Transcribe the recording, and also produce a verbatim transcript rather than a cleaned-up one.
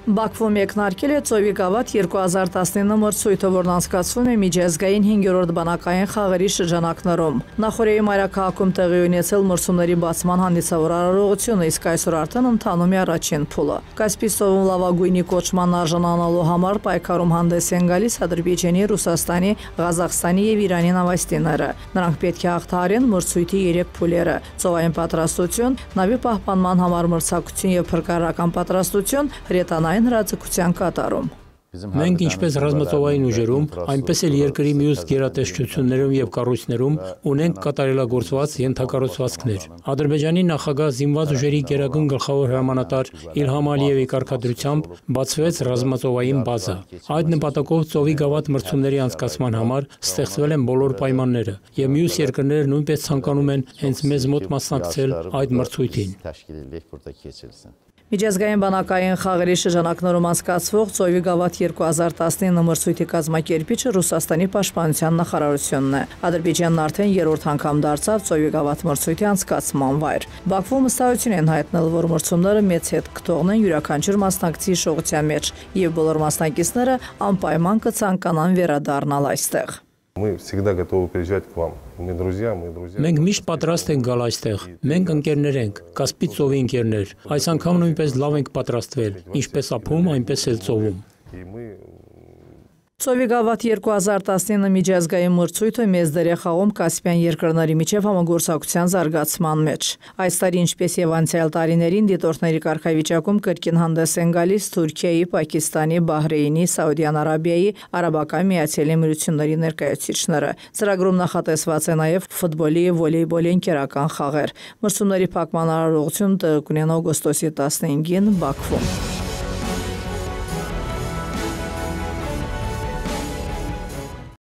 Բաքվում մեկնարկել է Ծովի գավաթ երկու հազար տասնինը մրցույթը, որն անցկացվում է միջազգային հինգերորդ բանակային խաղերի շրջանակներում։ Նախօրեի մայրաքաղաքում տեղի ունեցել մրցումների բացման հանդիսավոր արարողությունը, իսկ այսօր արդեն ընթանում է առաջին փուլը։ Կասպից ծովում լավագույնի կոչման արժանանալու համար պայքարում հանդես են գալիս Ադրբեջանի, Ռուսաստանի, Ղազախստանի եւ Իրանի նավաստիները։ Նրանք պետք է հաղթահարեն մրցույթի երեք փուլերը՝ ծովային պատրաստություն, նավի պահպանման համար մրցակցություն եւ փրկարարական պատրաստություն, հրետանային հրաձգության կատարում։ Մենք ինչպես ռազմածովային ուժերում, այնպես էլ երկրի մյուս գերատեսչություններում եւ կառույցներում ունենք կատարելագործված ենթակառուցվածքներ։ Ադրբեջանի նախագահ զինված ուժերի գերագույն գլխավոր հրամանատար Իլհամ Ալիևի կարգադրությամբ բացվեց ռազմածովային բազա։ Այդ նպատակով Ծովի գավաթ մրցումների անցկացման համար ստեղծվել են բոլոր պայմանները, եւ մյուս երկրները նույնպես ցանկանում են հենց մեզ մոտ մասնակցել այդ մրցույթին։ Միջազգային բանակային խաղերի շրջանակներում անցկացվող Ծովի գավաթ երկու հազար տասնինը մրցույթի կազմակերպիչը Ռուսաստանի պաշտպանության նախարարությունն է։ Ադրբեջանն արդեն երրորդ անգամ դարձավ Ծովի գավաթ մրցույթի անցկացման վայր։ Բաքվում վստահություն են հայտնել, որ մրցումները մեծ հետ կթողնեն յուրաքանչյուր մասնակցի հիշողության մեջ, եւ բոլոր մասնակիցները անպայման կցանկանան վերադառնալ այստեղ։ Мы всегда готовы приезжать к вам. Мы друзья, мы друзья. Մենք միշտ պատրաստ ենք գալ այստեղ։ Մենք ընկերներ ենք, Կասպից ծովի ընկերներ։ Այս անգամ նույնպես լավ ենք պատրաստվել, ինչպես ափում, այնպես էլ ծովում։ Ծովի գավաթ երկու հազար տասնինը միջազգային մրցույթը մեծ դեր է խաղում Կասպյան երկրների միջև համագործակցության զարգացման մեջ։ Այս տարի, ինչպես եւ անցյալ տարիներին, դիտորդների կարգավիճակում կրկին հանդես են գալիս Թուրքիայի, Պակիստանի, Բահրեյնի, Սաուդյան Արաբիայի, Արաբական Միացյալ Էմիրությունների ներկայացուցիչները։ Ծրագրում նախատեսված է նաեւ ֆուտբոլի եւ վոլեյբոլի ընկերական խաղեր։ Մրցումների փակման արարողությունը կունենա օգոստոսի տասնհինգին Բաքվում։